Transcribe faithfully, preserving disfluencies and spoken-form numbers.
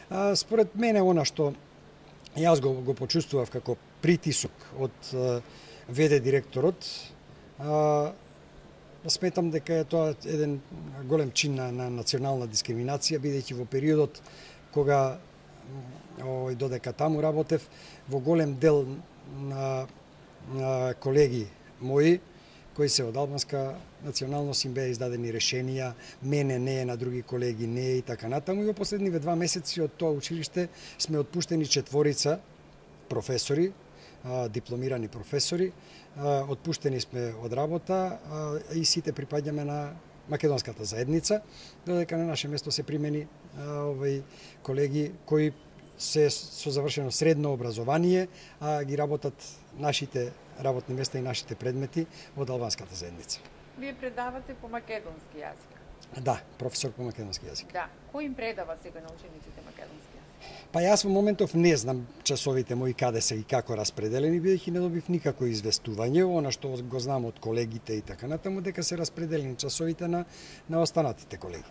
А, според мене, она што јас го, го почувствував како притисок од ВД директорот, а, сметам дека е тоа еден голем чин на, на национална дискриминација, бидејќи во периодот кога овој додека таму работев, во голем дел на, на колеги мои кои се од албанска националност им беа издадени решенија, мене не е, на други колеги не е и така натаму. И во последниве два месеци од тоа училиште сме отпуштени четворица професори, дипломирани професори, отпуштени сме од работа и сите припаѓаме на македонската заедница, додека на наше место се примени овој колеги кои се со завршено средно образование, а ги работат нашите работни места и нашите предмети од албанската заедница. Вие предавате по македонски јазик? Да, професор по македонски јазик. Да. Кој им предава сега на учениците македонски јазик? Па јас во моментов не знам часовите мои каде се и како распределени, бидејќи не добив никако известување. Она што го знам од колегите и така натаму, дека се распределени часовите на, на останатите колеги.